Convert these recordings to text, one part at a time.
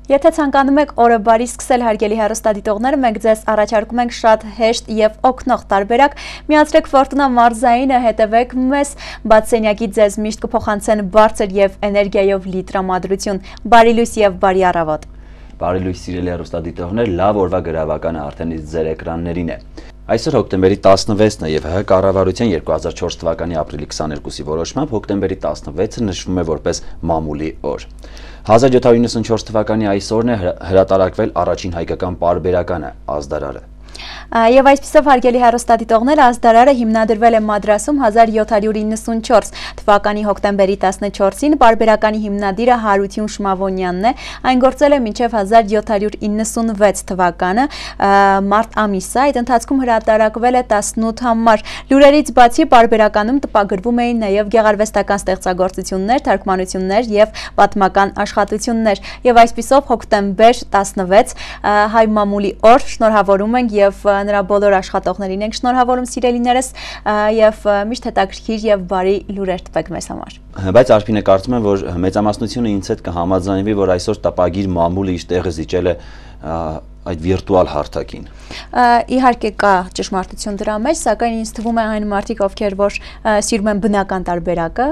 Եթե ցանկանում եք օրը բարի սկսել հարգելի հեռուստադիտողներ, մենք ձեզ առաջարկում ենք շատ հեշտ եւ օգնող տարբերակ։ Միացրեք Ֆորտունա մարզայինը, հետևեք մեզ, բացենյակի ձեզ միշտ կփոխանցեն բարձր եւ էներգիայով լի տրամադրություն։ Բարի լույս եւ բարի առավոտ։ Բարի լույս սիրելի հեռուստադիտողներ, լավ օրվա գրավականը արդեն ձեր էկրաններին է։ Այսօր հոկտեմբերի 16-ն է եւ ՀՀ կառավարության 2004 թվականի ապրիլի 22-ի որոշմամբ հոկտեմբերի 16-ը նշվում է որպես մամուլի օր։ 1794 թվականի այս օրն է հրատարակվել առաջին հայկական պարբերականը՝ ազդարարը։ Եվ այսպիսով հարգելի հեռուստադիտողներ, ազդարարը հիմնադրվել է Մադրասում 1794 թվականի հոկտեմբերի 14-ին, պարբերականի հիմնադիրը Հարություն Շմավոնյանն է, այն գործել է մինչև 1796 թվականը մարտ ամիսը, այդ ընթացքում հրատարակվել է 18 համար։ Լուրերից բացի պարբերականում տպագրվում էին նաև գեղարվեստական ստեղծագործություններ, թարգմանություններ եւ պատմական աշխատություններ։ Եվ այսպիսով հոկտեմբեր 16 հայ մամուլի օր, շնորհավորում ենք եւ նրա բոլոր աշխատողներին ենք շնորհավորում սիրելիներս եւ միշտ հետաքրքիր եւ բարի լուրեր տվեք մեզ համար։ Բայց Արփինե, կարծում եմ, որ մեծամասնությունը ինձ հետ կհամաձայնվի, որ այսօր տպագիր մամուլը իր տեղը զիջել է այդ վիրտուալ հարթակին։ Իհարկե կա ճշմարտություն դրա մեջ, սակայն ինձ թվում է այն մարդիկ, ովքեր որ սիրում են բնական տարբերակը,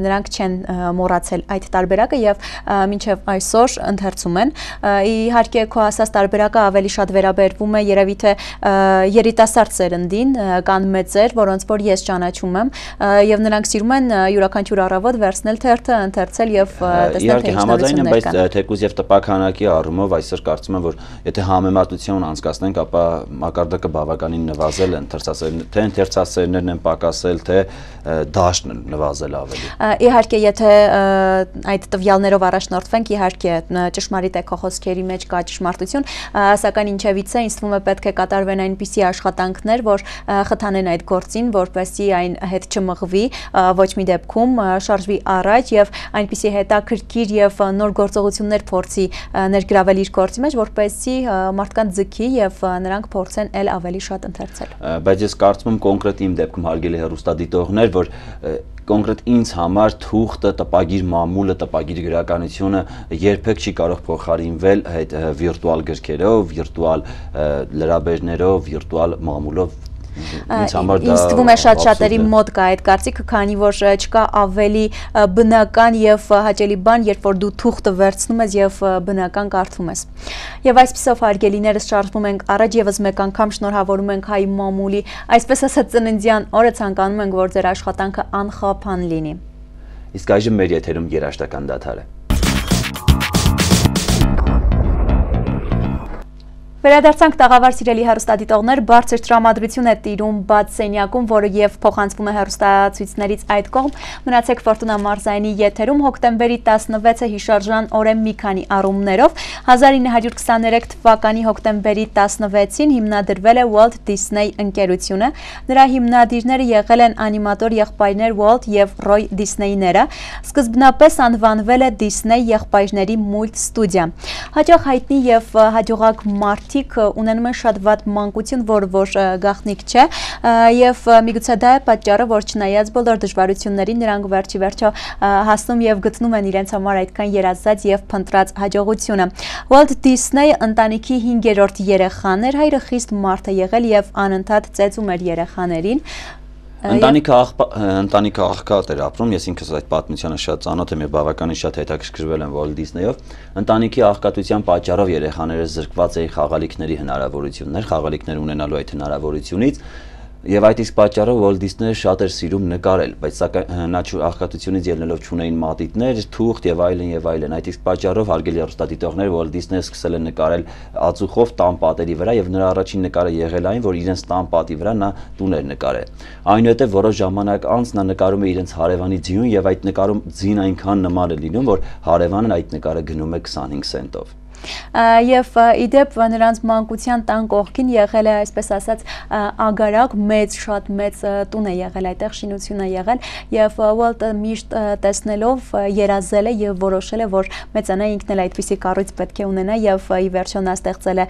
նրանք չեն մոռացել այդ տարբերակը եւ մինչեւ այսօր ընթերցում են։ Իհարկե քո ասած տարբերակը ավելի շատ վերաբերվում է երևի թե երիտասարդ սերնդին, կան մեծեր, որոնց որ ես ճանաչում եմ եւ նրանք սիրում են յուրաքանչյուր առավոտ վերցնել թերթը, ընթերցել եւ տեսնել թե ինչ նորություններ կան։ Բայց թեկուզ եւ տպաքանակի առումով այսօր կարծում եմ, որ եթե համեմատություն անցկացնենք, ապա մակարդակը բավականին նվազել է, թե ընթերցասերներն են պակասել, թե դաշտն նվազել ավելի։ Իհարկե, եթե այդ տվյալներով առաջնորդվենք, իհարկե ճշմարիտ է քո խոսքերի մեջ կա ճշմարտություն, սակայն ինչևից է, ինձ թվում է պետք է կատարվեն այնպիսի աշխատանքներ, որ խթանեն այդ գործին, որպեսզի այն հետ չմղվի, ոչ մի դեպքում շարժվի առաջ եւ այնպիսի հետաքրքիր եւ նոր գործողություններ փորձի ներգրավել իր գործի մեջ, որպեսզի մարդկանց ձգի եւ նրանք փորձեն ել ավելի շատ ընթերցել։ Բայց ես կարծում եմ կոնկրետ իմ դեպքում հարգելի հեռուստադիտողներ, որ կոնկրետ ինձ համար թուղթը, տպագիր մամուլը, տպագիր գրականությունը երբեք չի կարող փոխարինվել այդ վիրտուալ գրքերով, վիրտուալ լրաբերներով, վիրտուալ մամուլով։ Ինձ թվում է շատ շատերի մոտ կա այդ կարծիքը, քանի որ չկա ավելի բնական եւ հաճելի բան, երբ որ դու թուղթը վերցնում ես եւ բնական կարդում ես։ Եվ այսպիսով հարգելիներս շարժվում ենք առաջ, եւս մեկ անգամ շնորհավորում ենք հայ մամուլի, այսպես ասած ծննդյան օրը, ցանկանում ենք, որ ձեր աշխատանքը անխափան լինի։ Իսկ այժմ մեր եթերում երաժշտական դադար է։ Վերադարձանք տաղավար սիրելի հեռուստադիտողներ, բարձր տրամադրություն է տիրում բաց սենյակում, որը եւ փոխանցվում է հեռուստացույցներից այդ կողմ։ Մնացեք Ֆորտունա մարզայինի եթերում, հոկտեմբերի 16-ը հիշարժան օր է մի քանի առումներով։ 1923 թվականի հոկտեմբերի 16-ին հիմնադրվել է Walt Disney ընկերությունը։ Նրա հիմնադիրները եղել են անիմատոր եղբայրներ Walt եւ Roy Disney-ները։ Սկզբնապես անվանվել է Disney եղբայրների մուլտ ստուդիա։ Հաճախ հայտնի եւ հաջողակ մարդ ունենում են շատ վատ մանկություն, որ գաղտնիք չէ եւ միգուցե դա է պատճառը, որ չնայած բոլոր դժվարություններին նրանք վերջի վերջո հասնում եւ գտնում են իրենց համար այդքան երազած եւ փնտրած հաջողությունը։ Walt Disney ընտանիքի 5-րդ երեխան էր, հայրը խիստ մարդ է եղել եւ անընդհատ ծեծում էր երեխաներին։ Ընտանիքը աղքատ էր ապրում, ես ինքս այդ պատմությանը շատ ծանոթ եմ եւ բավականին շատ հետաքրքրվել եմ Walt Disney-ով։ Ընտանիքի աղքատության պատճառով երեխաները զրկված էին խաղալիքների հնարավորություններ, խաղալիքներ ունենալու այդ հնարավորությունից եւ այդ իսկ պատճառով Walt Disney-ը շատ էր սիրում նկարել, բայց սակայն նա աղքատությունից ելնելով չունեին մատիտներ, թուղթ եւ այլն եւ այլն։ Այդ իսկ պատճառով հարգելի հեռուստադիտողներ Walt Disney-ը սկսել է նկարել ածուխով տան պատերի վրա եւ նրա առաջին նկարը եղել այն, որ իրենց տան պատի վրա նա տուն էր նկարել։ Այնուհետև որոշ ժամանակ անց նա նկարում է իրենց հարևանի ձիուն եւ այդ նկարում ձին այնքան նման է լինում, որ հարևանն այդ նկարը գնում է 25 սենտով։ Եվ իդեպ նրանց մանկության տան կողքին եղել է, այսպես ասած, ագարակ, շատ մեծ տուն է եղել, այդտեղ շինություն է եղել եւ Walt-ը միշտ տեսնելով երազել է եւ որոշել է, որ մեծանա ինքն էլ այդպիսի կառույց պետք է ունենա եւ ի վերջո նա ստեղծել է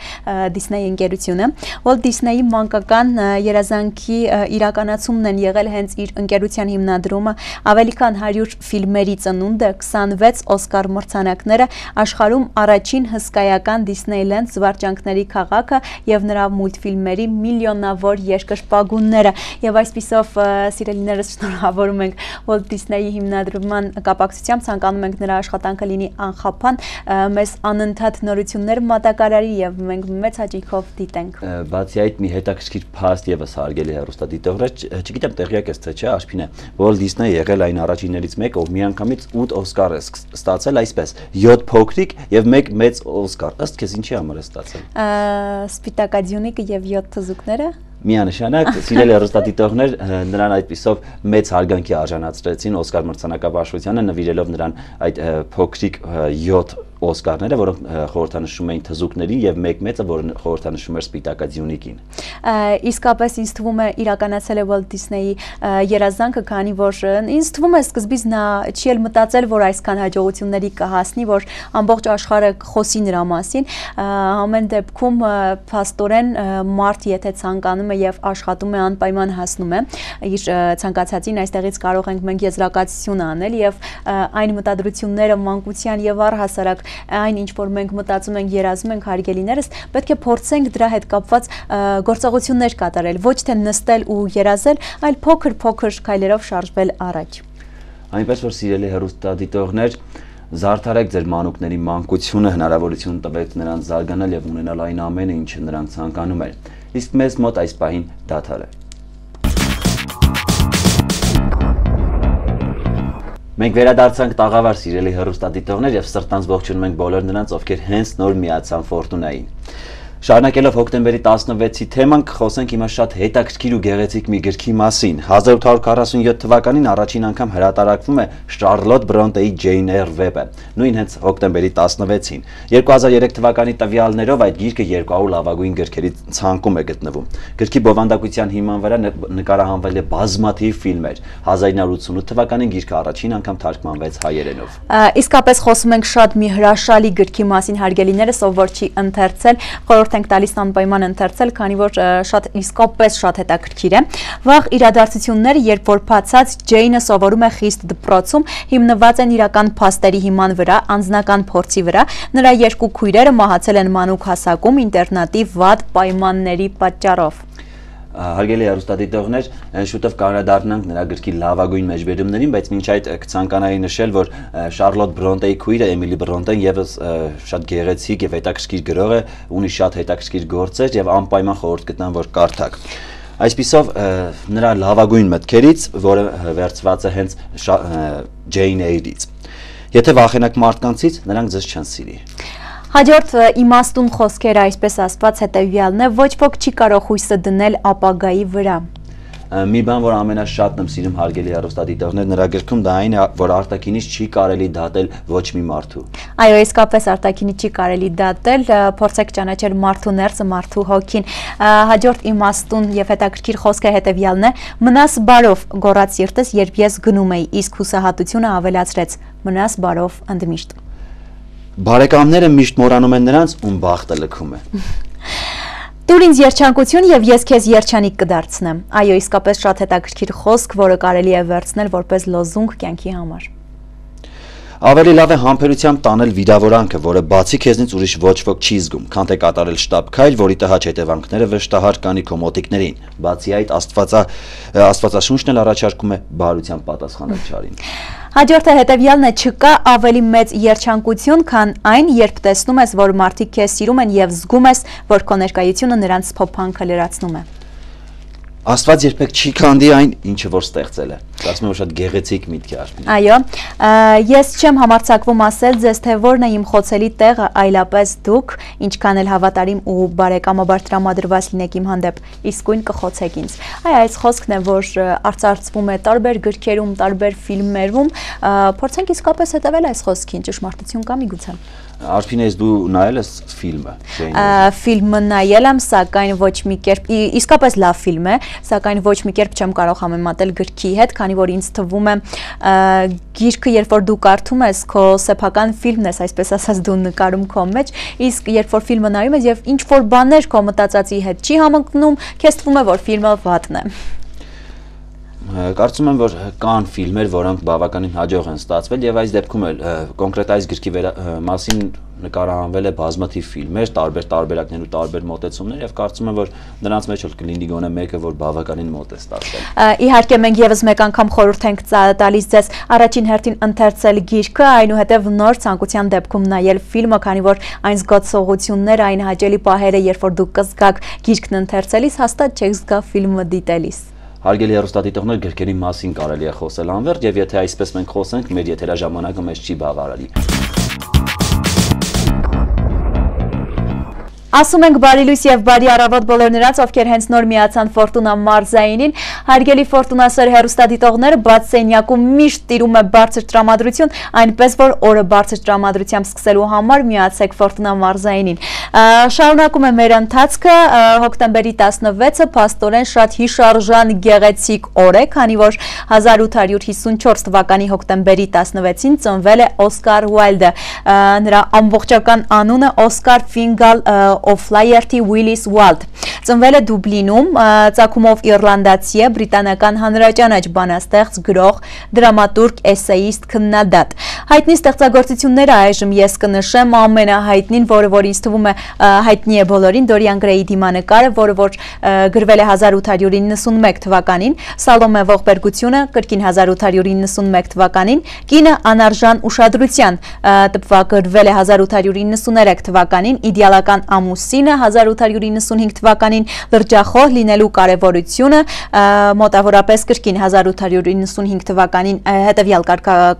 Disney ընկերությունը։ Walt Disney-ի մանկական երազանքի իրականացումն են եղել հենց իր ընկերության հիմնադրումը, ավելի քան 100 ֆիլմերի ծնունդը, 26 Օսկար մրցանակները, աշխարհում առաջին հսկայական Disneyland զվարճանքների քաղաքը եւ նրա մուլտֆիլմերի միլիոնավոր երկրպագունները։ Եվ այսպիսով սիրելիներս շնորհավորում ենք Walt Disney-ի հիմնադրման կապակցությամբ, ցանկանում ենք նրա աշխատանքը լինի անխափան, մեզ անընդհատ նորություններ մատակարարի եւ մենք մեծ հաճույքով դիտենք։ Բացի այդ մի հետաքրքիր փաստ եւս հարգելի հեռուստադիտողներ, չգիտեմ տեղյակ եք թե չէ, Աշփինե, Walt Disney եղել այն առաջիններից մեկը, ով միանգամից 8 Օսկար է ստացել, այսպես 7 փոքրիկ եւ 1 մեծ Օսկար։ Ըստ քեզ ինչի համար է ստացել։ Սպիտակաձյունիկը եւ 7 թզուկները։ Միանշանակ, սիրելի հեռուստադիտողներ, նրան այդպիսով մեծ հարգանքի արժանացրեցին Օսկար մրցանակաբաշխությանը, նվիրելով նրան այդ փոքրիկ 7 Օսկարները, որոնք խորհրդանշում էին թզուկներին եւ մեկ մեծը, որը խորհրդանշում էր Սպիտակաձյունիկին։ Իսկապես ինձ թվում է իրականացել է Walt Disney-ի երազանքը, քանի որ ինձ թվում է սկզբից նա չի էլ մտածել, որ այսքան հաջողությունների կհասնի, որ ամբողջ աշխարհը խոսի նրա մասին։ Ամեն դեպքում փաստորեն մարդ եթե ցանկանում է եւ աշխատում է, անպայման հասնում է իր ցանկացածին, այստեղից կարող ենք մենք եզրակացություն անել եւ այն մտադրությունները մանկության եւ առհասարակ այն ինչ որ մենք մտածում ենք, երազում ենք, հարգելիներս, պետք է փորձենք դրա հետ կապված գործողություններ կատարել, ոչ թե նստել ու երազել, այլ փոքր-փոքր քայլերով շարժվել առաջ։ Այնպես որ սիրելի հեռուստադիտողներ, զարդարեք ձեր մանուկների մանկությունը, հնարավորություն տվեք նրանց զարգանալ եւ ունենալ այն ամենը, ինչը նրանք ցանկանում են։ Իսկ մեզ մոտ այս պահին դադար է։ Մենք վերադարձանք տաղավար սիրելի հեռուստադիտողներ եւ սրտանց ողջունում ենք բոլոր նրանց, ովքեր հենց նոր միացան Ֆորտունային։ Շարունակելով հոկտեմբերի 16-ի թեման, կխոսենք հիմա շատ հետաքրքիր ու գեղեցիկ մի գրքի մասին։ 1847 թվականին առաջին անգամ հրատարակվում է Շարլոտ Բրոնտեի Ջեյն Էյր վեպը, նույն հենց հոկտեմբերի 16-ին։ 2003 թվականի տվյալներով այդ գիրքը 200 լավագույն գրքերի ցանկում է գտնվում։ Գրքի բովանդակության հիման վրա նկարահանվել է բազմաթիվ ֆիլմեր։ 1988 թվականին գիրքը առաջին անգամ թարգմանվեց հայերենով։ Իսկապես խոսում ենք շատ մի հրաշալի գրքի մասին, հարգելիներս, ով որ չի ընթերցել, խորհուրդ ենք տալիս անպայման ընթերցել, քանի որ շատ իսկապես շատ հետաքրքիր է։ Վաղ իրադարձությունները, երբ որ բացած Ջեյնը սովորում է խիստ դպրոցում, հիմնված են իրական փաստերի հիման վրա, անձնական փորձի վրա։ Նրա երկու քույրերը մահացել են մանուկ հասակում ինտերնատի վատ պայմանների պատճառով։ Հարգելի հեռուստադիտողներ, շուտով կանդրադառնանք նրա գրքի լավագույն մեջբերումներին, բայց մինչ այդ կցանկանայի նշել, որ Շարլոտ Բրոնտեի քույրը Էմիլի Բրոնտեն եւս շատ գեղեցիկ եւ հետաքրքիր գրող է, ունի շատ հետաքրքիր գործեր եւ անպայման խորհուրդ կտամ, որ կարդաք։ Այսպիսով նրա լավագույն մտքերից, որը վերցված է հենց Ջեյն Էյրից։ Եթե վախենակ մարդկանցից, նրանք ձեզ չեն սիրի։ Հաջորդ իմաստուն խոսքերը, այսպես ասված, հետևյալն է, ոչ ոք չի կարող հույսը դնել ապագայի վրա։ Մի բան, որ ամենաշատն եմ սիրում հարգելի հեռուստադիտողներ նրա գրքում, դա այն է, որ արտաքինից չի կարելի դատել ոչ մի մարդու։ Այո, իսկապես արտաքինից չի կարելի դատել, փորձեք ճանաչել մարդու ներսը, մարդու հոգին։ Հաջորդ իմաստուն եւ հետաքրքիր խոսքը հետևյալն է. մնաս բարով, գոռաց սիրտս, երբ ես գնում էի, իսկ հուսահատությունը ավելացրեց. մնաս բարով ընդմիշտ։ Բարեկամները միշտ մոռանում են նրանց, ում բախտը լքում է։ Տուր ինձ երջանկություն եւ ես քեզ երջանիկ կդարձնեմ։ Այո, իսկապես շատ հետաքրքիր խոսք, որը կարելի է վերցնել որպես լոզունգ կյանքի համար։ Ավելի լավ է համբերությամբ տանել վիրավորանքը, որը բացի քեզնից ուրիշ ոչ ոք չի զգում, քան թե կատարել շտապ քայլ, որի տհաճ հետևանքները վշտահար կանի քո մոտիկներին։ Բացի այդ, Աստվածաշունչն էլ առաջարկում է բարությամբ պատասխանել չարին։ Հաջորդը հետևյալն է, չկա ավելի մեծ երջանկություն, քան այն, երբ տեսնում ես, որ մարդիկ քեզ սիրում են եւ զգում ես, որ քո ներկայությունը նրանց փոփանքը լրացնում է։ Աստված երբեք չի քանդի այն, ինչը որ ստեղծել է։ Ասում եմ, որ շատ գեղեցիկ միտք է Աշպին։ Այո, ես չեմ համարձակվում ասել ձեզ, թե որն է իմ խոցելի տեղը, այլապես դուք, ինչքան էլ հավատարիմ ու բարեկամաբար տրամադրված լինեք իմ հանդեպ, իսկույն կխոցեք ինձ։ Այ այս խոսքն է, որ արծարծվում է տարբեր գրքերում, տարբեր ֆիլմերում, փորձենք իսկապես հետևել այս խոսքին, ճշմարտություն կա միգուցե։ Արփինես դու նայել ես ֆիլմը։ Ֆիլմը նայել եմ, սակայն ոչ մի կերպ, իսկապես լավ ֆիլմ է, սակայն ոչ մի կերպ չեմ կարող համեմատել գրքի հետ, քանի որ ինձ թվում է գիրքը, երբ որ դու կարդում ես, քո սեփական ֆիլմն ես, այսպես ասած, դու նկարում քո մեջ, իսկ երբ որ ֆիլմը նայում ես եւ ինչ որ բաներ քո մտածածի հետ չի համընկնում, քեզ թվում է, որ ֆիլմը վատն է։ Կարծում եմ, որ կան ֆիլմեր, որոնք բավականին հաջող են ստացվել եւ այս դեպքում էլ կոնկրետ այս գրքի մասին նկարահանվել է բազմաթիվ ֆիլմեր, տարբեր տարբերակներ ու տարբեր մոտեցումներ եւ կարծում եմ, որ նրանց մեջ էլ կլինի գոնե մեկը, որ բավականին մոտ է ստացվել։ Իհարկե մենք եւս մեկ անգամ խորհուրդ ենք տալիս ձեզ առաջին հերթին ընթերցել գիրքը, այնուհետեւ նոր ցանկության դեպքում նայել ֆիլմը, քանի որ այն զգացողությունները, այն հաճելի պահերը, երբ որ դուք կզգաք գիրքն ընթերցելիս, հաստատ չեք զգա ֆիլմը դիտելիս։ Հարգելի հեռուստադիտողներ, գրքերի մասին կարելի է խոսել անվերջ եւ եթե այսպես մենք խոսենք, մեր եթերաժամանակը մեզ չի բավարարի։ Ասում ենք բարի լույս եւ բարի առավոտ բոլոր նրանց, ովքեր հենց նոր միացան Ֆորտունա մարզայինին։ Հարգելի Ֆորտունասեր հեռուստադիտողներ, բաց սենյակում միշտ տիրում է բարձր տրամադրություն, այնպես որ օրը բարձր տրամադրությամբ սկսելու համար միացեք Ֆորտունա մարզայինին։ Շարունակում է մեր ընթացքը, հոկտեմբերի 16-ը փաստորեն շատ հիշարժան գեղեցիկ օր է, քանի որ 1854 թվականի հոկտեմբերի 16-ին ծնվել է Օսկար Ուայլդը։ Նրա ամբողջական անունը Օսկար Ֆինգալ Օֆլայերթի Ուիլիս Ուալդ։ Ծնվել է Դուբլինում, ծագումով իռլանդացի է, բրիտանական հանրաճանաչ բանաստեղծ, գրող, դրամատուրգ, էսեիստ, քննադատ։ Հայտնի ստեղծագործությունները այժմ ես կնշեմ ամենահայտնին, որը որ ինձ թվում է հայտնի է բոլորին, Դորիան Գրեյի դիմանկարը, որը որ գրվել է 1891 թվականին, Սալոմե ողբերգությունը կրկին 1891 թվականին, Կինը անարժան ուշադրության տպվագրվել է 1893 թվականին, Իդեալական ամուսինը 1895 թվականին, Լրջախոհ լինելու կարևորությունը մոտավորապես կրկին 1895 թվականին, հետևյալ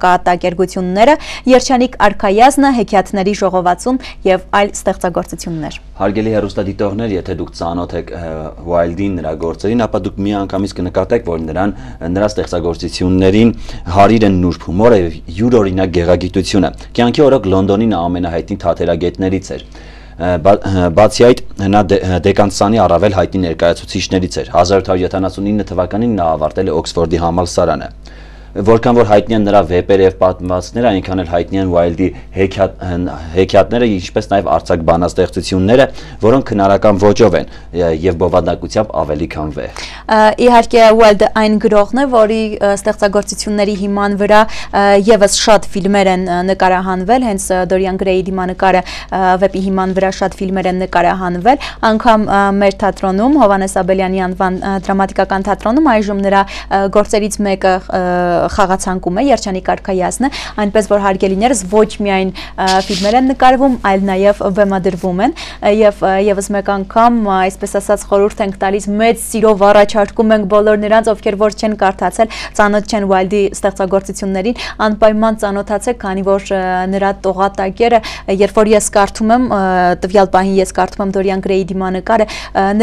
կատակերգությունները, Երջանիկ արքայազնը, Հեքիաթների ժողովածուն եւ այլ ստեղծագործություններ։ Հարգելի հեռուստադիտողներ, եթե դուք ծանոթ եք Ուայլդին, նրա գործերին, ապա դուք միանգամից կնկատեք, որ նրա ստեղծագործություններին հարիր են նուրբ հումորը եւ յուրօրինակ գեղագիտությունը։ Կյանքի օրոք Լոնդոնի ամենահայտնի թատերագետներից էր։ Բացի այդ, նա դեկանտսանի առավել հայտնի ներկայացուցիչներից էր։ 1879 թվականին նա ավարտել է Օքսֆորդի համալսարանը։ Որքան որ հայտնի են նրա վեպերը եւ պատմվածքները, այնքան էլ հայտնի են Ուայլդի հեքիաթները, ինչպես նաեւ արձակ բանաստեղծությունները, որոնք քնարական ոճով են եւ բովանդակությամբ ավելի քան վեհ։ Իհարկե Ուայլդը այն գրողն է, որի ստեղծագործությունների հիման վրա եւս շատ ֆիլմեր են նկարահանվել, հենց Դորիան Գրեյի դիմանկարը վեպի հիման վրա շատ ֆիլմեր են նկարահանվել, անգամ մեր թատրոնում, Հովհաննես Աբելյանի անվան դրամատիկական թատրոնում այժմ նրա գործերից մեկը խաղացանկում է, Երջանիկ արքայազնը, այնպես որ հարգելիներս ոչ միայն ֆիլմեր են նկարվում, այլ նաև բեմադրվում են եւ եւս մեկ անգամ, այսպես ասած, խորհուրդ ենք տալիս, մեծ սիրով առաջարկում ենք բոլոր նրանց, ովքեր որ չեն կարդացել, ծանոթ չեն Ուայլդի ստեղծագործություններին, անպայման ծանոթացեք, քանի որ նրա տողատակերը, երբ որ ես կարդում եմ, տվյալ պահին ես կարդում եմ Դորիան Գրեյի դիմանկարը,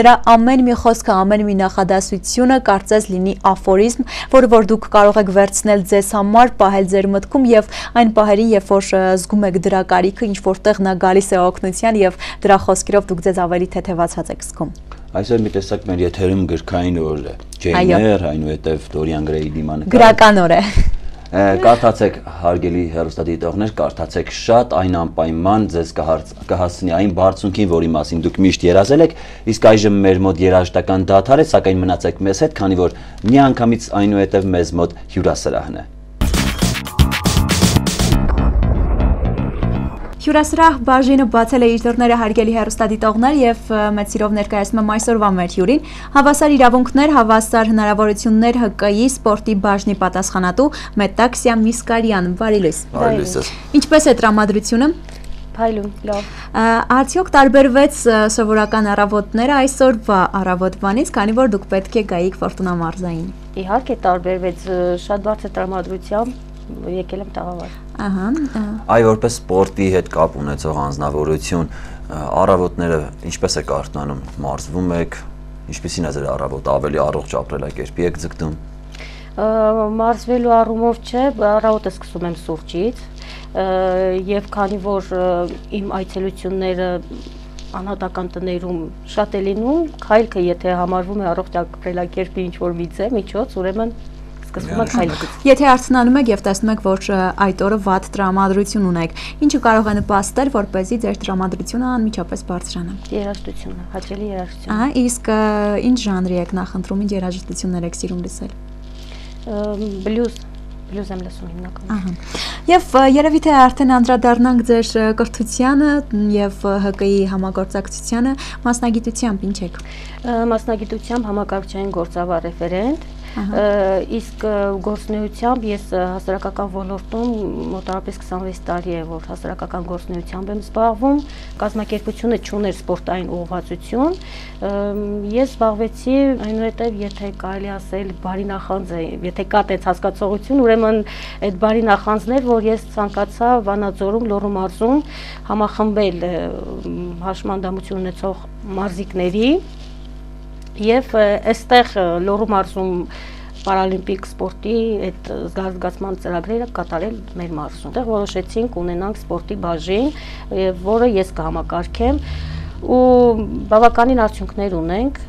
նրա ամեն մի խոսքը, ամեն մի նախադասությունը կարծես լինի աֆորիզմ, որը որ դուք կարող եք վերցնել ձեզ համար, պահել ձեր մտքում եւ այն պահերին, երբ որ զգում եք դրա կարիքը, ինչ որտեղ նա գալիս է օգնության եւ դրա խոսքերով դուք ձեզ ավելի թեթևացած եք զգում։ Այսօր մի տեսակ մեր եթերում գրքային օր է։ Ջեյներ, այնուհետև Դորիան Գրեյի դիմանկարը։ Գրական օր է։ Կարդացեք, հարգելի հեռուստադիտողներ, կարդացեք շատ, այն անպայման ձեզ կհասցնի այն բարձունքին, որի մասին դուք միշտ երազել եք, իսկ այժմ մեր մոտ երաժշտական դադար է, սակայն մնացեք մեզ հետ, քանի որ միանգամից այնուհետև մեզ մոտ հյուրասրահն է։ Հյուրասրահ բաժինը բացել է իր դռները, հարգելի հեռուստադիտողներ, եւ մեծ սիրով ներկայացնում եմ այսօրվա մեր հյուրին, հավասար իրավունքներ, հավասար հնարավորություններ ՀԿ-ի սպորտի բաժնի պատասխանատու Մետաքսիա Միսկարյան։ Բարի լույս։ Բարի լույս։ Ինչպես է տրամադրությունը։ Փայլուն, լավ։ Արդյոք տարբերվեց սովորական առավոտները այսօրվա առավոտվանից, քանի որ դուք պետք է գայիք Ֆորտունա մարզային։ Իհարկե տարբերվեց, շատ բարձր տրամադրությամբ եկել եմ տաղավար։ Ահա։ Այ որպես սպորտի հետ կապ ունեցող անձնավորություն, առավոտները ինչպես եք արթնանում, մարզվում եք, ինչպեսին է ձեր առավոտը, ավելի առողջ ապրելակերպի եք ձգտում։ Մարզվելու առումով չէ, առավոտը սկսում եմ սուրճից եւ քանի որ իմ այցելությունները անհատական տներում շատ է լինում, քայլքը եթե համարվում է առողջ ապրելակերպի ինչ-որ միջոց, ուրեմն սկսվում է քայլել։ Եթե արթնանում եք եւ տեսնում եք, որ այդ օրը վատ տրամադրություն ունեք, ինչը կարող է նպաստել, որպեսզի ձեր տրամադրությունը անմիջապես բարձրանա։ Երաժշտությունը, հաճելի երաժշտություն։ Ահա, իսկ ինչ ժանրի եք նախընտրում, ինչ երաժշտություններ եք սիրում լսել։ Բլյուզ եմ լսում հիմնականում։ Եվ երևի թե արդեն անդրադառնանք ձեր կրթությանը եւ ՀԿ-ի համագործակցությանը, մասնագիտությամբ ինչ եք։ Մասնագիտությամբ համակարգչային գործավար ռեֆերենտ, իսկ գործունեությամբ ես հասարակական ոլորտում մոտավորապես 26 տարի է, որ հասարակական գործունեությամբ եմ զբաղվում, կազմակերպությունը չուներ սպորտային ուղղվածություն, ես զբաղվեցի այնուհետև, եթե կարելի ասել բարի նախանձ է, եթե կա տենց հասկացողություն, ուրեմն այդ բարի նախանձն էր, որ ես ցանկացա Վանաձորում, Լոռու մարզում համախմբել հաշմանդամություն ունեցող մարզիկների եւ այստեղ Լոռու մարզում պարալիմպիկ սպորտի այդ զարգացման ծրագրերը կատարել մեր մարզում։ Այդտեղ որոշեցինք ունենանք սպորտի բաժին, որը ես կհամակարգեմ ու բավականին արդյունքներ ունենք։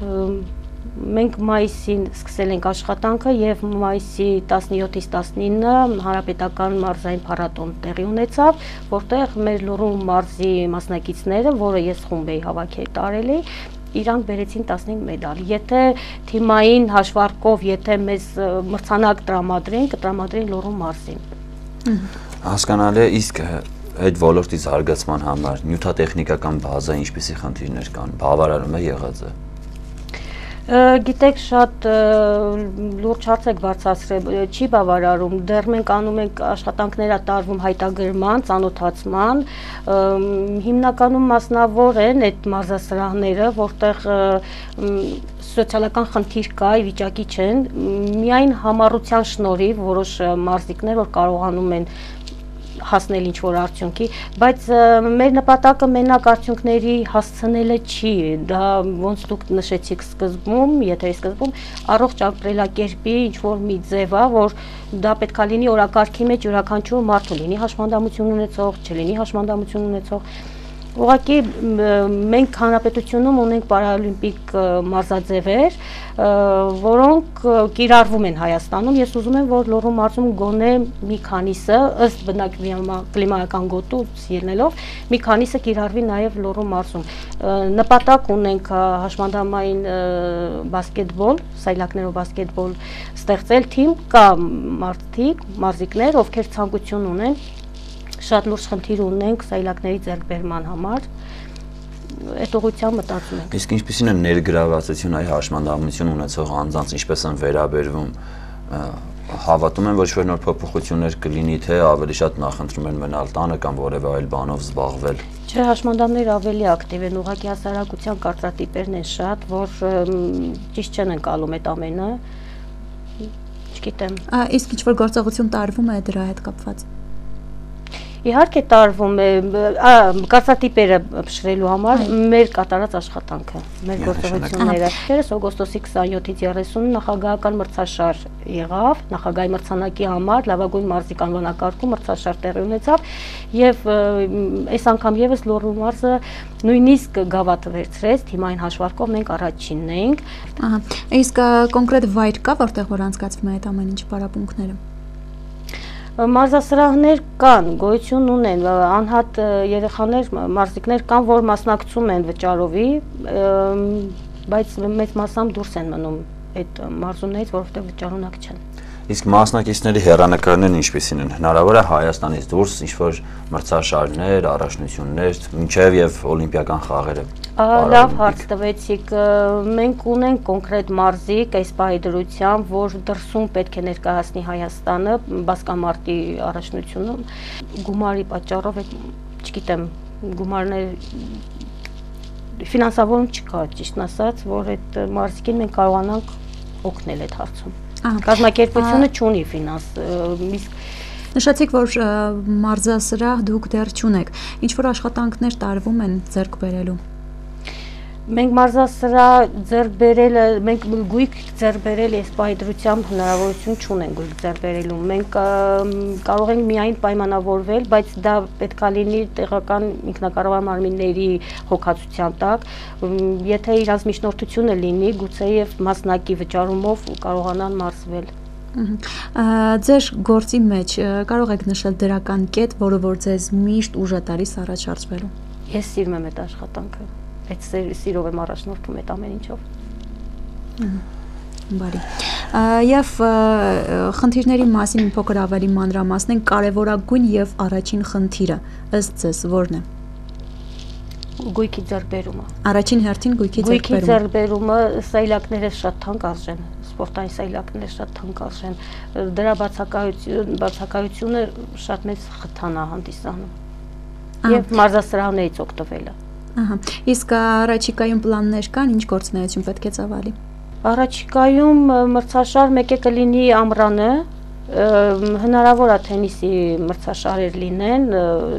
Մենք մայիսին սկսել ենք աշխատանքը եւ մայիսի 17-ից 19-ը հանրապետական մարզային փառատոն տեղի ունեցավ, որտեղ մեր Լոռու մարզի մասնակիցները, որը ես խումբ էի հավաքել տարելի, իրանք բերեցին 15 մեդալ։ Եթե թիմային հաշվարկով, եթե մեզ մրցանակ տրամադրեն, կտրամադրեն Լոռու մարզին։ Հասկանալի է, իսկ այդ ոլորտի զարգացման համար նյութատեխնիկական բազա ինչպիսի խնդիրներ կան, բավարարում է եղած է։ Գիտեք, շատ լուրջ հարց եք բարձրացրել, չի բավարարում, դեռ մենք անում ենք աշխատանքներ տարվում հայտագրման, ծանոթացման, հիմնականում մասնավոր են այդ մարզասրահները, որտեղ սոցիալական խնդիր կա, վիճակի չեն, միայն համառության շնորհիվ որոշ մարզիկներ, որ կարողանում են հասնել ինչ-որ արդյունքի, բայց մեր նպատակը մենակ արդյունքների հասցնելը չի, դա ոնց դուք նշեցիք սկզբում, եթերի սկզբում, առողջ ապրելակերպի ինչ-որ մի ձև է, որ դա պետք է լինի օրակարգի մեջ յուրաքանչյուր մարդու, լինի հաշմանդամություն ունեցող, չլինի հաշմանդամություն ունեցող։ Ուղղակի մենք հանրապետությունում ունենք պարալիմպիկ մարզաձևեր, որոնք կիրառվում են Հայաստանում, ես ուզում եմ, որ Լոռու մարզում գոնե մի քանիսը, ըստ բնակլիմայական գոտուց ելնելով, մի քանիսը կիրառվի նաև Լոռու մարզում։ Նպատակ ունենք հաշմանդամային բասկետբոլ, սայլակներով բասկետբոլ ստեղծել թիմ, կա մարզիկներ, ովքեր ցանկություն ունեն, շատ լուրջ խնդիր ունենք սայլակների ձեռքբերման համար, այդ ուղղությամբ մտածում ենք։ Իսկ ինչպիսին է ներգրավվածություն այ հաշմանդամություն ունեցող անձանց, ինչպես են վերաբերվում, հավատում են, ոչ որ նոր փոփոխություններ կլինի, թե ավելի շատ նախընտրում են մնալ տանը կամ որևէ այլ բանով զբաղվել։ Չէ, հաշմանդամները ավելի ակտիվ են, ուղղակի հասարակության կարծրատիպերն են շատ, որ ճիշտ չեն ընկալում այդ ամենը, չգիտեմ։ Իսկ ինչ-որ գործողություն տարվում է դրա հետ կապված։ Իհարկե տարվում է, կարծրատիպերը փշրելու համար մեր կատարած աշխատանքը, մեր գործողությունները։ Երես օգոստոսի 27-ից 30 նախագահական մրցաշար եղավ, նախագահի մրցանակի համար լավագույն մարզիկ անվանակարգում մրցաշար տեղի ունեցավ եւ այս անգամ եւս Լոռու մարզը նույնիսկ գավաթը վերցրեց, թիմային հաշվարկով մենք առաջինն էինք։ Իսկ կոնկրետ վայր կա, որտեղ որ անցկացվում է այդ ամեն ինչ պարապմունքները։ Մարզասրահներ կան, գոյություն ունեն, անհատ երեխաներ, մարզիկներ կան, որ մասնակցում են վճարովի, բայց մեծ մասամբ դուրս են մնում այդ մարզումներից, որովհետև վճարունակ չեն։ Իսկ մասնակիցների հեռանկարներն ինչպիսին են, հնարավոր է Հայաստանից դուրս ինչ-որ մրցաշարներ, առաջնություններ, մինչև եւ օլիմպիական խաղերը։ Լավ հարց տվեցիք, մենք ունենք կոնկրետ մարզիկ այս պահի դրությամբ, որ դրսում պետք է ներկայացնի Հայաստանը բասկամարտի առաջնությունում, գումարի պատճառով, չգիտեմ, գումարներ ֆինանսավորում չկա, ճիշտն ասած, որ այդ մարզիկին մենք կարողանանք օգնել այդ հարցում։ Կազմակերպությունը չունի ֆինանս, նշեցիք, որ մարզասրահ դուք դեռ չունեք, ինչ-որ աշխատանքներ տարվում են ձեռք բերելու։ Մենք մարզասրահ ձեռք բերելը, մենք գույք ձեռք բերել այս պահի դրությամբ հնարավորություն չունենք գույք ձեռք բերելու։ Մենք կարող ենք միայն պայմանավորվել, բայց դա պետք է լինի տեղական ինքնակառավարման մարմինների հոգացության տակ, եթե իրանց միջնորդությունը լինի, գուցեև մասնակի վճարումով կարողանան մարզվել։ Ձեր գործի մեջ կարող եք նշել դրական կետ, որը որ ձեզ միշտ ուժ է տալիս առաջ արծվելու։ Ես սիրում եմ այդ աշխատանքը, այդ սիրով եմ առաջնորդում այդ ամեն ինչով։ Բարի։ Եվ խնդիրների մասին մի փոքր ավելի մանրամասնենք, կարևորագույն եւ առաջին խնդիրը ըստ ձեզ որն է։ Գույքի ձեռքբերումը։ Առաջին հերթին գույքի Գույքի ձեռքբերումը սայլակները շատ թանկ արժեն, սպորտային սայլակները շատ թանկ արժեն։ Դրա բացակայությունը շատ մեծ խթան է հանդիսանում։ Եվ մարզասրահներից օգտվելը։ Ահա։ Իսկ առաջիկայում պլաններ կան, ինչ գործունեություն պետք է ծավալի։ Առաջիկայում մրցաշար մեկ է կլինի ամռանը, հնարավոր է թենիսի մրցաշարեր լինեն,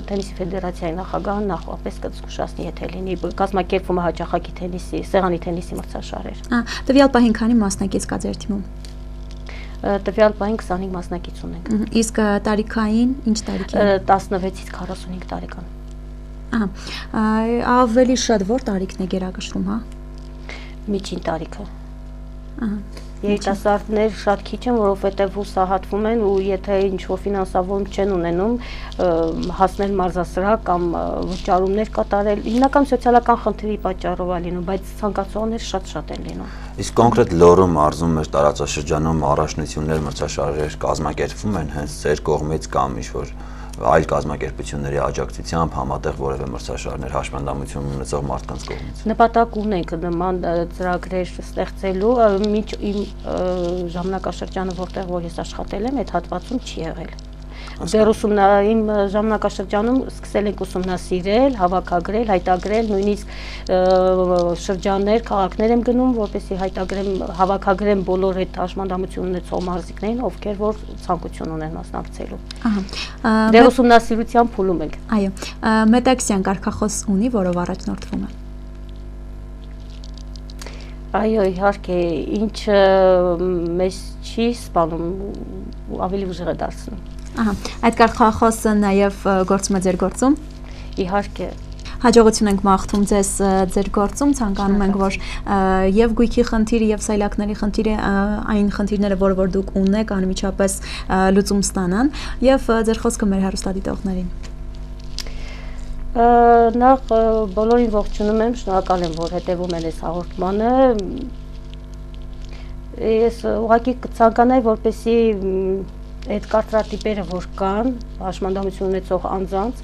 թենիսի ֆեդերացիայի նախագահը նախապես կզգուշացնի, եթե լինի կազմակերպվում է հաճախակի թենիսի, սեղանի թենիսի մրցաշարեր։ Տվյալ պահին քանի մասնակից կա ձեր թիմում։ Տվյալ պահին 25 մասնակից ունենք։ Իսկ տարիքային ինչ տարիքին։ 16-ից 45 տարեկան։ Ահա, ավելի շատ որ տարիքն է գերակշռում, հա։ Միջին տարիքը։ Ահա։ Երիտասարդներ շատ քիչ են, որովհետև հուսահատվում են ու եթե ինչ-որ ֆինանսավորում չեն ունենում, հասնել մարզասրահ կամ վճարումներ կատարել, հիմնական սոցիալական խնդրի պատճառով է լինում, բայց ցանկացողներ շատ են լինում։ Իսկ կոնկրետ Լոռու մարզում մեր տարածաշրջանում առաջնություններ, մրցաշարեր կազմակերպվում են հենց ձեր կողմից կամ ինչ-որ այլ կազմակերպությունների աջակցությամբ համատեղ որևէ մրցաշարներ հաշմանդամություն ունեցող մարդկանց կողմից։ Նպատակ ունենք նման ծրագրեր ստեղծելու, մինչ իմ ժամանակաշրջանը, որտեղ որ ես աշխատել եմ, այդ հատվածում չի եղել։ Դեռ իմ ժամանակաշրջանում սկսել ենք ուսումնասիրել, հավաքագրել, հայտագրել, նույնիսկ շրջաններ, քաղաքներ եմ գնում, որպեսզի հայտագրեմ, հավաքագրեմ բոլոր այդ հաշմանդամություն ունեցող մարզիկներին, ովքեր որ ցանկություն ունեն մասնակցելու։ Դեռ ուսումնասիրության փուլում ենք։ Այո, Մետաքսյան կարգախոս ունի, որով առաջնորդվում է։ Այո, իհարկե, ինչը մեզ չի սպանում, ավելի ուժեղ է դարձնում։ Ահա, այդ կարգախոսը նաև գործում է ձեր գործում։ Իհարկե։ Հաջողություն ենք մաղթում ձեզ ձեր գործում, ցանկանում ենք, որ եւ գույքի խնդիրը եւ սայլակների խնդիրը այն խնդիրները, որ դուք ունեք, անմիջապես լուծում ստանան եւ ձեր խոսքը մեր հեռուստադիտողներին։ Նախ բոլորին ողջունում եմ, շնորհակալ եմ, որ հետևում են այս հաղորդմանը։ Ես ուղղակի կցանկանայի, որպեսզի այդ կարծրատիպերը, որ կան, հաշմանդամություն ունեցող անձանց,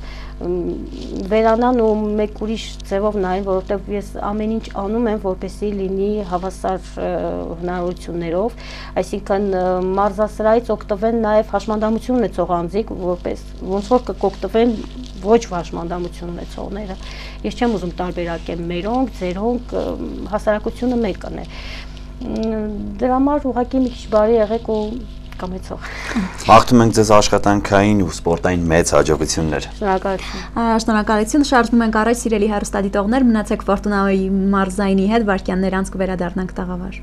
վերանան ու մեկ ուրիշ ձևով նայեն, որովհետև ես ամեն ինչ անում եմ, որպեսզի լինի հավասար հնարավորություններով, այսինքն մարզասրահից օգտվեն նաև հաշմանդամություն ունեցող անձիկ, որպես ոնց որ կօգտվեն ոչ հաշմանդամություն ունեցողները։ Ես չեմ ուզում տարբերակեմ մերոնք, ձերոնք, հասարակությունը մեկն է։ Դրա համար ուղղակի մի քիչ բարի եղեք ու կամեցող։ Մաղթում ենք ձեզ աշխատանքային ու սպորտային մեծ հաջողություններ։ Շնորհակալություն։ Շնորհակալություն, շարժվում ենք առաջ, սիրելի հեռուստադիտողներ, մնացեք Ֆորտունայի մարզայինի հետ, վայրկյաններ անց կվերադառնանք տաղավար։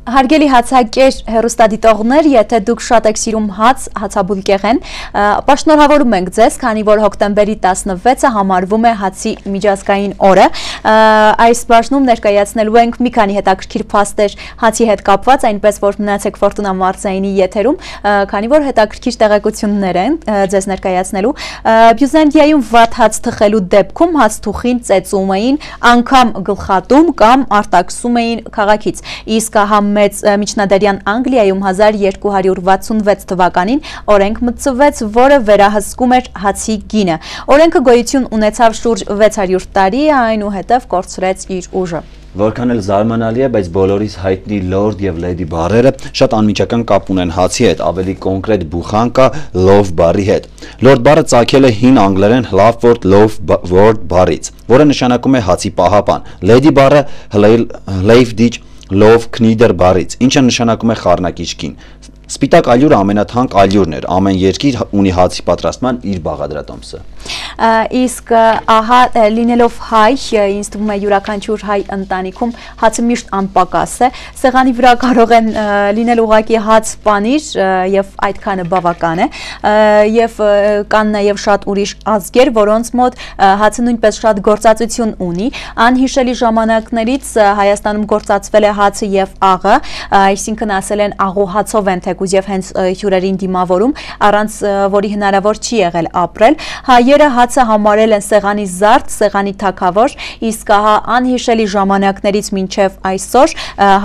Հարգելի հացակեր հեռուստադիտողներ, եթե դուք շատ եք սիրում հաց, հացաբուլկեղեն, ապա շնորհավորում ենք ձեզ, քանի որ հոկտեմբերի 16-ը համարվում է հացի միջազգային օրը։ Այս բաժնում ներկայացնելու ենք մի քանի հետաքրքիր փաստեր հացի հետ կապված, այնպես որ մնացեք Ֆորտունա մարզայինի եթերում, քանի որ հետաքրքիր տեղեկություններ են ձեզ ներկայացնելու։ Բյուզանդիայում վատ հաց թխելու դեպքում հացթուխին ծեծում էին, անգամ գլխատում կամ արտաքսում էին քաղաքից։ Իսկ մեծ միջնադարյան Անգլիայում 1266 թվականին օրենք մտցվեց, որը վերահսկում էր հացի գինը։ Օրենքը գոյություն ունեցավ շուրջ 600 տարի, այնուհետև կորցրեց իր ուժը։ Որքան էլ զարմանալի է, բայց բոլորիս հայտնի Lord եւ Lady բառերը շատ անմիջական կապ ունեն հացի հետ, ավելի կոնկրետ բուխան կա loaf բառի հետ։ Lord բառը ծագել է հին անգլերեն Hlaford loaf word բառից, որը նշանակում է հացի պահապան։ Lady բառը Hlavdij Love Knider բառից, ինչը նշանակում է խառնակիչ կին։ Սպիտակ ալյուրը ամենաթանկ ալյուրն էր, ամեն երկիր ունի հացի պատրաստման իր բաղադրատոմսը։ Իսկ ահա լինելով հայ, ինձ թվում է յուրաքանչյուր հայ ընտանիքում հացը միշտ անպակաս է, սեղանի վրա կարող են լինել ուղղակի հաց պանիր եւ այդքանը բավական է, եւ կան նաեւ շատ ուրիշ ազգեր, որոնց մոտ հացը նույնպես շատ գործածություն ունի։ Անհիշելի ժամանակներից Հայաստանում գործածվել է հացը եւ աղը, այսինքն ասել են աղու հացով են թե թեկուզ եւ հենց հյուրերին դիմավորում, առանց որի հնարավոր չի եղել ապրել։ Հայերը հացը համարել են սեղանի զարդ, սեղանի թագավոր, իսկ ահա անհիշելի ժամանակներից մինչև այսօր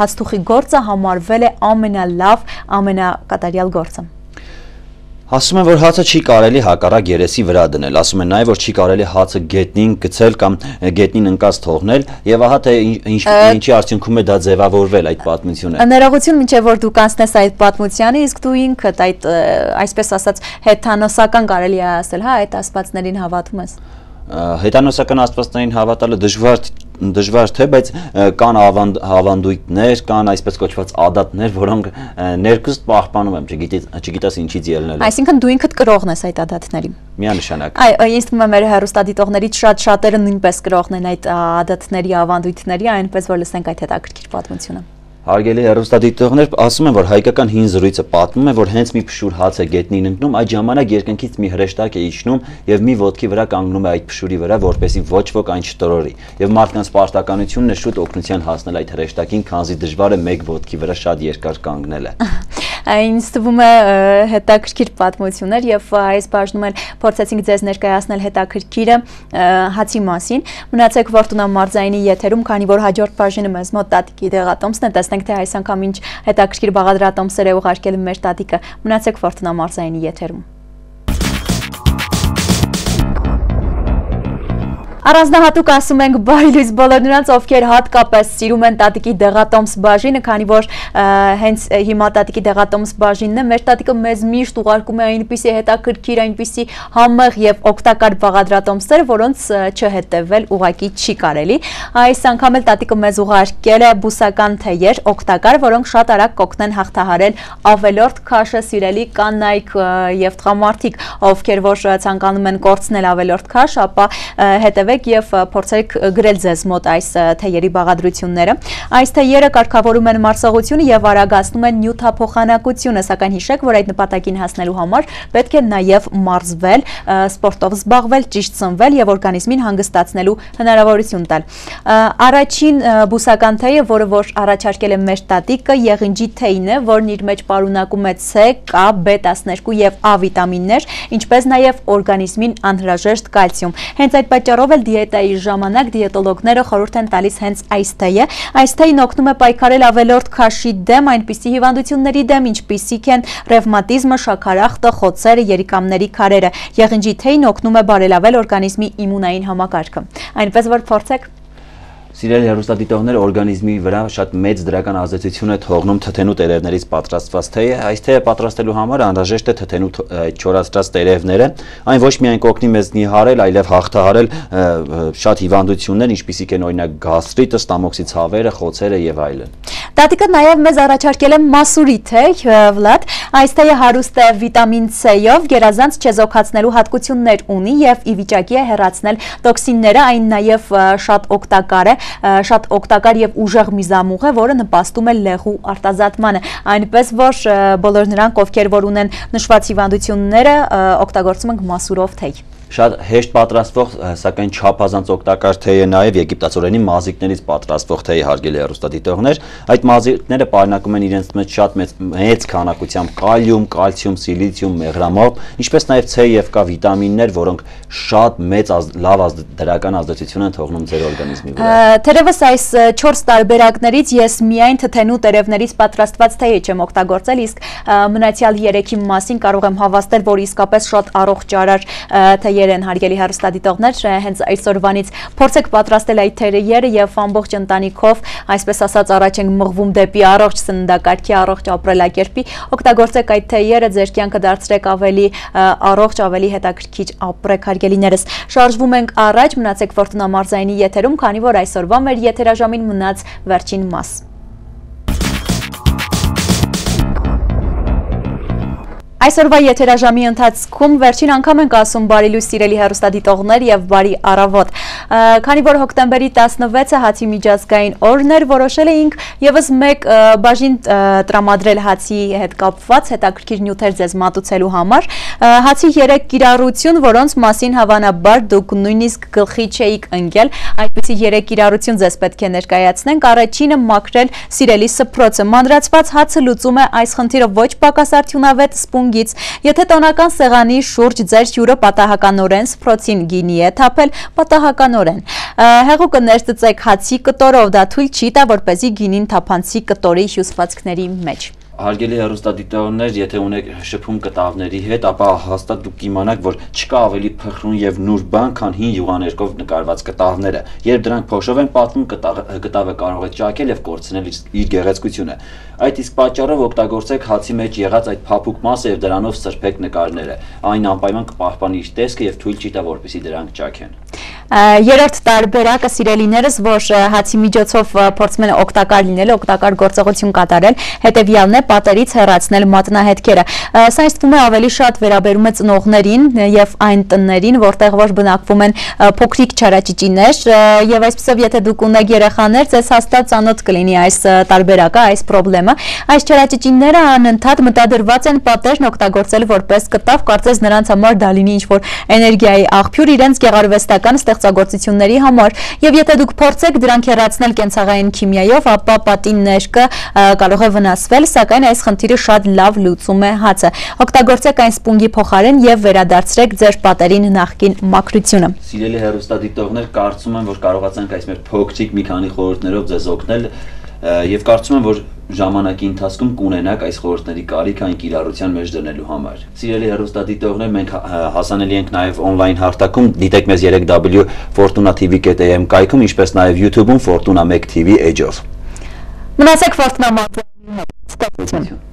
հացթուխի գործը համարվել է ամենալավ, ամենակատարյալ գործը։ Ասում են, որ հացը չի կարելի հակառակ երեսի վրա դնել, ասում են նաև, որ չի կարելի հացը գետնին գցել կամ գետնին ընկած թողնել, եւ ահա թե ինչի արդյունքում է դա ձևավորվել այդ պատմությունը։ Ներողություն, մինչև որ դու կանցնես այդ պատմությանը, իսկ դու ինքդ այդ այսպես ասած հեթանոսական կարելի է ասել, հա, այդ աստվածներին հավատում ես։ Հեթանոսական աստվածներին հավատալը դժվար թե, բայց կան ավանդույթներ, կան այսպես կոչված ադատներ, որոնք ներկուստ պահպանում եմ, չգիտես ինչից ելնել։ Այսինքն դու ինքդ կրողն ես այդ ադատների։ Միանշանակ։ Ինձ թվում է մեր հեռուստադիտողներից շատերը նույնպես կրողն են այդ ադատների, ավանդույթների, այնպես որ լսենք այդ հետաքրքիր պատմությունը։ Հարգելի հեռուստադիտողներ, ասում են, որ հայկական հին զրույցը պատմում է, որ հենց մի փշուր հաց է գետնին ընկնում, այդ ժամանակ երկնքից մի հրեշտակ է իջնում եւ մի ոտքի վրա կանգնում է այդ փշուրի վրա, որպեսզի ոչ ոք այն չտրորի։ Եվ մարդկանց պարտականությունն է շուտ օգնության հասնել այդ հրեշտակին, քանզի դժվար է մեկ ոտքի վրա շատ երկար կանգնելը։ Ինձ թվում է հետաքրքիր պատմություններ եւ այս բաժնում էլ փորձեցինք ձեզ ներկայացնել հետաքրքիրը հացի մասին։ Մնացեք Ֆորտունա մարզայինի եթերում, քանի որ հաջորդ բաժինը մեզ մոտ տատիկի դեղատոմսն է, տեսնենք թե այս անգամ ինչ հետաքրքիր բաղադրատոմսեր է ուղարկել մեր տատիկը։ Մնացեք Ֆորտունա մարզայինի եթերում։ Առանձնահատուկ ասում ենք բարի լույս բոլոր նրանց, ովքեր հատկապես սիրում են տատիկի դեղատոմս բաժինը, քանի որ հենց հիմա տատիկի դեղատոմս բաժինն է, մեր տատիկը մեզ միշտ ուղարկում է այնպիսի հետաքրքիր, այնպիսի համեղ եւ օգտակար բաղադրատոմսեր, որոնց չհետևել ուղակի չի կարելի։ Այս անգամ էլ տատիկը մեզ ուղարկել է բուսական թեյեր, օգտակար, որոնք շատ արագ կօգնեն հաղթահարել ավելորդ քաշը, սիրելի կանայք եւ տղամարդիկ, ովքեր որ ցանկանում են կորցնել ավելորդ քաշ, ապա հետևեք եւ փորձեք գրել ձեզ մոտ այս թեյերի բաղադրությունները։ Այս թեյերը կարգավորում են մարսողությունը եւ արագացնում են նյութափոխանակությունը, սակայն հիշեք, որ այդ նպատակին հասնելու համար պետք է նաեւ մարզվել, սպորտով զբաղվել, ճիշտ սնվել եւ օրգանիզմին հանգստացնելու հնարավորություն տալ։ Առաջին բուսական թեյը, որը որ առաջարկել է մեր տատիկը, եղինջի թեյն է, որն իր մեջ պարունակում է C, K, B12 եւ A վիտամիններ, ինչպես նաեւ օրգանիզմին անհրաժեշտ կալցիում։ Հենց այդ պատճառով դիետայի ժամանակ դիետոլոգները խորհուրդ են տալիս հենց այս թեյը։ Այս թեյն օգնում է պայքարել ավելորդ քաշի դեմ, այնպիսի հիվանդությունների դեմ, ինչպիսիք են ռևմատիզմը, շաքարախտը, խոցերը, երիկամների քարերը։ Եղինջի թեյն օգնում է բարելավել օրգանիզմի իմունային համակարգը։ Այնպես որ փորձեք։ Սիրելի հեռուստադիտողներ, օրգանիզմի վրա շատ մեծ դրական ազդեցություն է թողնում թթենու տերևներից պատրաստված թեյը։ Այս թեյը պատրաստելու համար անհրաժեշտ է թթենու չորացրած տերևները։ Այն ոչ միայն կօգնի մեզ նիհարել, այլև հաղթահարել շատ հիվանդություններ, ինչպիսիք են օրինակ գաստրիտը, ստամոքսի ցավերը, խոցերը եւ այլն։ Տատիկը նաև մեզ առաջարկել է մասուրի թեյ, Վլադ։ Այս թեյը հարուստ է վիտամին C-ով, գերազանց չեզոքացնելու հատկություններ ունի եւ ի վիճակի է հեռացնել տոքսինները, այն նաեւ շատ օգտակար է, շատ օգտակար եւ ուժեղ միզամուղ է, որը նպաստում է լեղու արտազատմանը, այնպես որ բոլոր նրանք, ովքեր որ ունեն նշված հիվանդությունները, օգտագործում են մասուրով թեյ։ Շատ հեշտ պատրաստվող, սակայն չափազանց օգտակար թեյ է նաև եգիպտացորենի մազիկներից պատրաստվող թեյ, հարգելի հեռուստադիտողներ։ Այդ մազիկները պարունակում են իրենց մեջ շատ մեծ քանակությամբ կալիում, կալցիում, սիլիցիում, մեղրամոլ, ինչպես նաև C եւ K վիտամիններ, որոնք շատ մեծ լավ դրական ազդեցություն են թողնում ձեր օրգանիզմի վրա։ Թերևս այս 4 տարբերակներից ես միայն թթենու տերևներից պատրաստված թեյ չեմ օգտագործել, իսկ մնացյալ 3-ի մասին կարող եմ հավաստել, որ իսկապես շատ առողջ արար թեյեր են, հարգելի հեռուստադիտողներ, հենց այսօրվանից փորձեք պատրաստել այդ թեյերը եւ ամբողջ ընտանիքով, այսպես ասած, առաջ ենք մղվում դեպի առողջ սննդակարգի, առողջ ապրելակերպի, օգտագործեք այդ թեյերը, ձեր կյանքը դարձրեք ավելի առողջ, ավելի հետաքրքիր ապրեք, հարգելիներս։ Շարժվում ենք առաջ, մնացեք Ֆորտունա մարզայինի եթերում, քանի որ այսօրվա մեր եթերաժամին մնաց վերջին մաս։ Այսօրվա եթերաժամի ընթացքում վերջին անգամ ենք ասում բարի լույս սիրելի հեռուստադիտողներ եւ բարի առավոտ։ Քանի որ հոկտեմբերի 16-ը հացի միջազգային օրն էր, որոշել էինք եւս մեկ բաժին տրամադրել հացի հետ կապված հետաքրքիր նյութեր ձեզ մատուցելու համար։ Հացի 3 կիրառություն, որոնց մասին հավանաբար դուք նույնիսկ գլխի չէիք ընկել, այդպիսի 3 կիրառություն ձեզ պետք է ներկայացնենք։ Առաջինը մաքրել սիրելի սփռոցը։ Մանրացված հացը լուծում է այս խնդիրը ոչ պակաս արդյունավետ սպունգից։ Եթե տոնական սեղանի շուրջ ձեր հյուրը պատահականորեն սփռոցին գինի է թափել, պատահականորեն հեղուկը ներծծեք հացի կտորով, դա թույլ չի տա, որպեսզի գինին թափանցի կտորի հյուսվածքների մեջ։ Հարգելի հեռուստադիտողներ, եթե ունեք շփում կտավների հետ, ապա հաստատ դուք կիմանաք, որ չկա ավելի փխրուն եւ նուրբ բան, քան հին յուղաներկով նկարված կտավները։ Երբ դրանք փոշով են պատվում, կտավը կարող է ճաքել եւ կորցնել իր գեղեցկությունը։ Այդ իսկ պատճառով օգտագործեք հացի մեջ եղած այդ փափուկ մասը եւ դրանով սրբեք նկարները։ Այն անպայման կպահպանի իր տեսքը եւ թույլ չի տա, որպեսզի դրանք ճաքեն։ Երրորդ տարբերակը սիրելիներս, որ հացի միջոցով փորձում են օգտակար լինել, օգտակար գործողություն կատարել, հետևյալն է պատերից հեռացնել մատնահետքերը։ Սա ինձ թվում է ավելի շատ վերաբերում է ծնողներին եւ այն տներից, որտեղ որ բնակվում են փոքրիկ չարաճճիներ, եւ այսպեսով եթե դուք ունեք երեխաներ, ձեզ հաստատ ծանոթ կլինի այս տարբերակը, այս խնդրը։ Այս չարաճճիները անընդհատ մտադրված են պատերն օգտագործել որպես կտավ, կարծես նրանց համար դա լինի ինչ-որ էներգիայի աղբյուր իրենց գեղարվեստական ստեղծագործությունների համար, եւ եթե դուք փորձեք դրանք հեռացնել կենցաղային քիմիայով, ապա պատի ներկը կարող է վնասվել, սակայն այս խնդիրը շատ լավ լուծում է հացը։ Օգտագործեք այն սպունգի փոխարեն եւ վերադարձրեք ձեր պատերին նախկին մաքրությունը։ Սիրելի հեռուստադիտողներ, կարծում եմ, որ կարողացանք այս մեր փոքրիկ մի քանի խորհուրդներով ձեզ օգնել եւ կարծում եմ, որ ժամանակի ընթացքում կունենաք այս խորհուրդների կարիք այն կիրառության մեջ դնելու համար։ Սիրելի հեռուստադիտողներ, մենք հասանելի ենք նաև on-line հարթակում, դիտեք մեզ 3w fortuna.tv.am կայքում, ինչպես նաև YouTube-ում Fortuna 1 TV Edge-ով։ Մնացեք Fortuna մատուցողի հետ։